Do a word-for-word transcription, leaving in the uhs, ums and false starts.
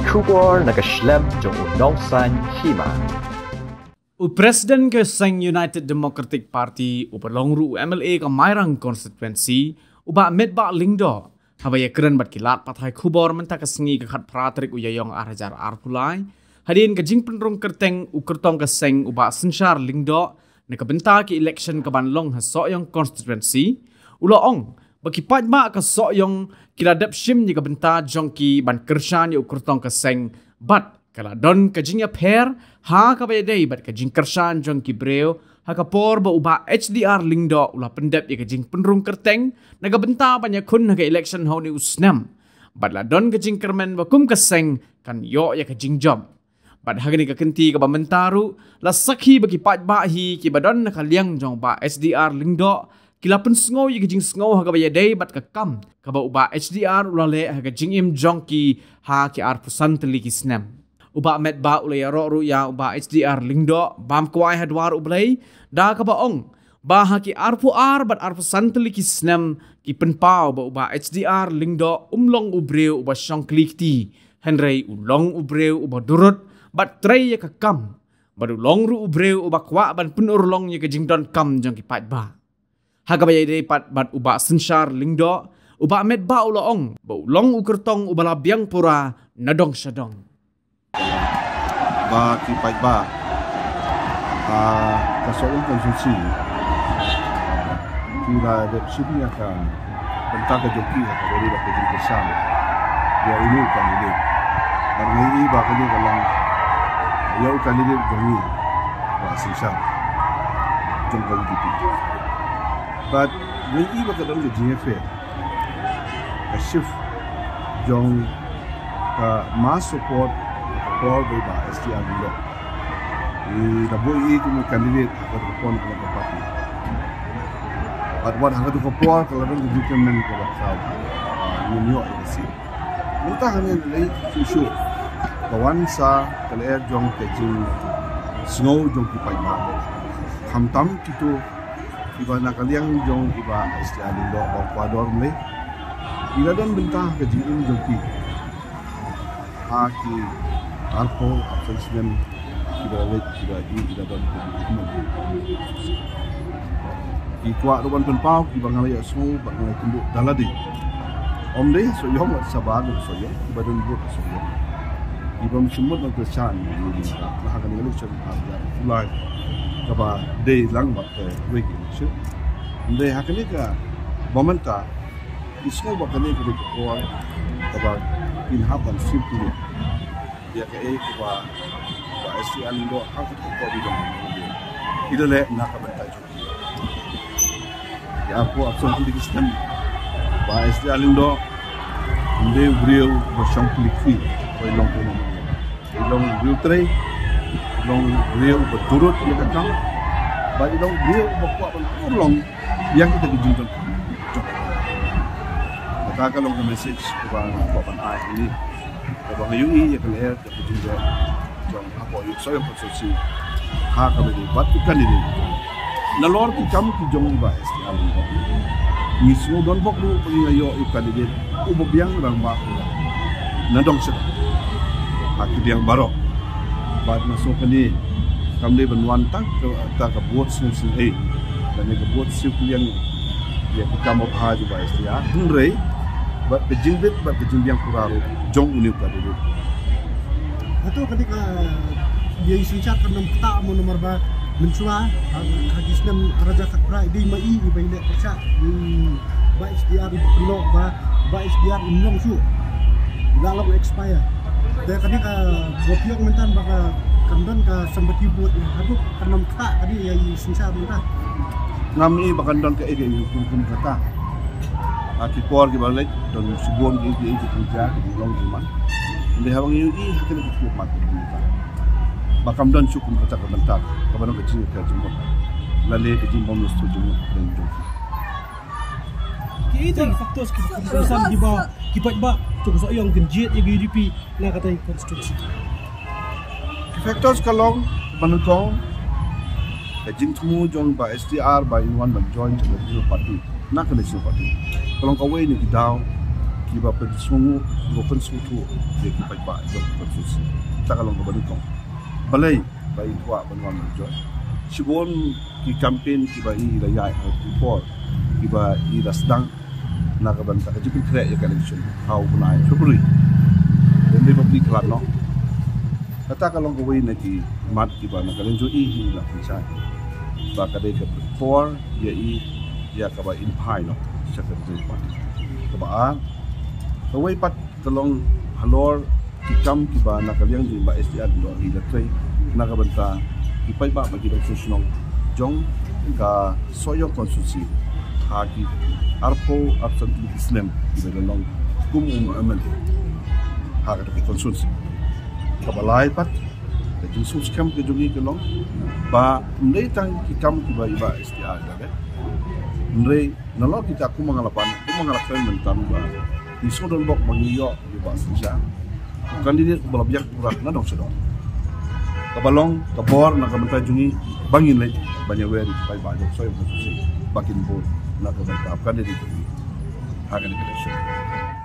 Khubor na ka shlem jong u nongsan hima. U President ka seng United Democratic Party, uba long ruh u M L A ka Mairang Constituency, u Bah Metbah Lyngdoh, haba ïakren bad ki lad pathai khubor mynta ka sngi ka khatphra tarik u Ïaïong ar hajar arphew lai, hadien ka jingpynrung kyrteng u kyrtong ka seng u Bah Synshar Lyngdoh, na ka bynta ki election kaban long ha Sohiong Constituency, u la ong ba ki paidbah ka Sohiong ki la dep shim ïa ka bynta jong ki ban kyrshan ïa u kyrtong ka seng, bad ka la don ka jingïapher ha kaba ïadei bad ka jingkyrshan jong ki briew ha ka por ba u Bah H D R Lyngdoh u la pyndep ïa ka jingpynrung kyrteng na ka bynta ban ïakhun ha ka election ha une u snem. Bad la don ka jingkyrmen ba kum ka seng kan ïoh ïa ka jingjop. Bad ha kane ka kynti kaba mynta ruh, la sakhi ba ki paidbah hi kiba don na ka liang jong u Bah H D R Lyngdoh ki la pynsngew ïa ka jingsngew ha kaba ïadei bad ka kam kaba u Bah H D R u la leh ha ka jingim jong ki ha ki arphew san tylli ki snem. U Bah Metbah u la ïaroh ruh ïa u Bah H D R Lyngdoh bam kwai ha dwar U Blei, da kaba ong ba ha ki arphew ar bad arphew san tylli ki snem ki pynpaw ba u Bah H D R Lyngdoh um long u briew uba shong kli kti, hynrei u long u briew uba durut bad trei ïa ka kam, bad u long ruh u briew uba kwah ban pynurlong ïa ka jingdonkam jong ki paidbah. Ha kaba ïadei pat bad u Bah Synshar Lyngdoh, u Bah Metbah u la ong ba u long u kyrtong uba la biang pura na dong sha dong. Ba ki paidbah, ah, ka Sohiong Constituency ki la dep shim ïa ka bynta ka jong ki ha kaba ïadei bad ka jingkyrshan ïa une u candidate. Bad ngi i ba kane ka long ïa u candidate jong ngi, Bah Synshar, jong ka U D P. Bad ngi i ba ka don ka jingïapher, ka shift jong ka mass support ka por ba i Bah H D R Lyngdoh i la buh i kum u candidate ha ka por ka party. Bad wat ha ka por ka la don ka jingkyrmen kaba khraw, ah, ngin ïoh ïa ka seat. Mynta hangne lei shuh shuh ka wan sa ka lyer jong ka jingsngew jong ki paidbah. Khamtam kito kiba na ka liang jong i Bah H D R Lyngdoh ba u kordor mlei. I la don bynta ka jingim jong ki ha ki arphew arphew snem kiba la leit, kiba i, i la don ka jingim. Ki kwah ruh ban pynpaw kiba nga la ïohsngew bad nga la ïakynduh da lade. Ym dei Sohiong bad shabar dei Sohiong, kiba don vote Sohiong. Kiba ym shym mut ban kyrshan ïa u Lyngdoh ha kane ka election ar hajar arphew lai kaba dei lang bad kawei ka election. Ym dei ha kane kaba mynta, i sngew ba kane ka dei ka por kaba kin hap ban circulate ïa kaei kaba, ba H D R Lyngdoh ha ka por ba i dang i la leh na ka bynta jong ki. Ïa, arphew arphew san tylli ki snem Bah H D R Lyngdoh um dei u briew ba shong kli kti, ba i long kumno. I long u briew trei, i long u briew ba durut ïa ka kam, bad i long u briew ba kwah ban pynurlong ïa kita ki jingdonkam. Kata ka long ka message kaba nga kwah ban ai hangne. Kaba nga ïohi ïa ka lyer jong ka jingleh jong hapoh Sohiong Constituency ha kaba ïadei bad ki candidate. Nalor ki kam ki jong i Bah H D R Lyngdoh, ngi sngew donbok ruh ba ngi la ïoh ïa u candidate uba biang rangbah na dong sha dong ha ki liang baroh. Bad nga sngew kane kam dei ban wan tang ka, tang ka vote sngewsynei, kane ka vote sngewkylliang ïa ka kam ba bha jong Bah H D R, hynrei bad ka jingbit bad ka jingbiang pura ruh jong une u candidate. Hato ka dei ka, ïa i synshar kan ym ktah mo, namar ba mynshuwa ha, ha ki snem ar hajar khatphra i dei ma i, i ba i leh pyrshah, i Bah H D R i ba pynlong ba, Bah H D R im long shuh, i la long expire. Te kane ka, ba phi ong mynta ba ka, kan don ka sympathy vote, hato kan ym ktah ka dei ïa i synshar mynta? Ngam i ba kan don kaei kaei kum, kum kata. Ha ki por kiba la leit don shibun ki, ki, ki, ki, ki, ki long ki man. Ynda haba ngi ïohi ha kane ka khlieh mat ba kam don shuh kum kata ka bynta kaba don ka jingkyrkhu jingmut, lane ka jingbym ïasnoh jingmut. Ki, ki factors ki, ki, ki, ki, ki paidbah jong ka Sohiong kin jied ïa ka U D P na katei ka constituency. Ki factors ka long ba nyngkong ka jingthmu jong Bah H D R ba in wan ban join jong ka National Party, na ka National Party. Ka long kawei na ki daw kiba pynsngew, kiba pynsngewthuh ïa ki paidbah jong ka constituency. Kata ka long kaba nyngkong. Balei ba i kwah ban wan mynjur? Shibun ki campaign kiba i la ïaid ha ki por kiba i la sdang na ka bynta ka jingpynkhreh ïa ka election ha u bnai February. Dei ba phi khlad noh. Kata ka long kawei na ki mat kiba na ka liang jong i hi la pynshai ba ka dei ka por ïa i ïa kaba in phai noh sha ka ri party. Kaba ar, kawei pat ka long halor ki kam kiba na ka liang jong i Bah S T R i la trei na ka bynta ki paidbah ba ki dang shnong jong ka Sohiong constituency ha ki arphew arphew san tylli ki snem kiba la long kum u M L A ha kata ka constituency. Kaba lai pat ka jingsngewskhem ka jong i ka long ba ym dei tang ki kam kiba i Bah S T R i la leh, hynrei nalor kita kum nga la pan, kum nga la kren mynta ba ngi sngewdon bok ba ngi ïoh ïa u Bah Sing Sha, u candidate uba la biang u rat na dong sha dong. Kaba long ka bor na ka bynta jong i ba ngin leit ban ïawer ïa ki paidbah jong Sohiong constituency ba kin vote na ka bynta u candidate jong i ha kane ka election.